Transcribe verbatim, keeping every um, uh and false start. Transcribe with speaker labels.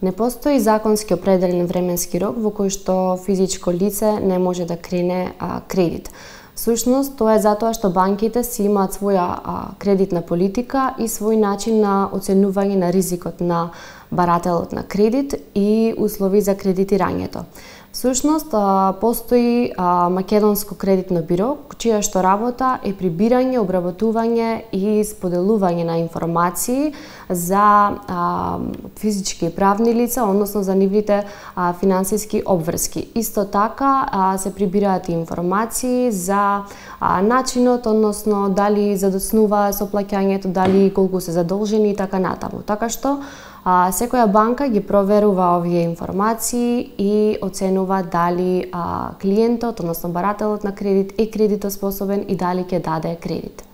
Speaker 1: Не постои законски определен временски рок во кој што физичко лице не може да крене а, кредит. Всушност, тоа е затоа што банките си имаат своја а, кредитна политика и свој начин на оценување на ризикот на барателот на кредит и услови за кредитирањето. Всушност, постои Македонско кредитно биро, чија што работа е прибирање, обработување и споделување на информации за а, физички и правни лица, односно за нивните а, финансиски обврски. Исто така а, се прибираат и информации за а, начинот, односно дали задоцнува со плаќањето, дали колку се задолжени и така натаму. Така што А, секоја банка ги проверува овие информации и оценува дали а, клиентот, односно барателот на кредит е кредитоспособен и дали ќе даде кредит.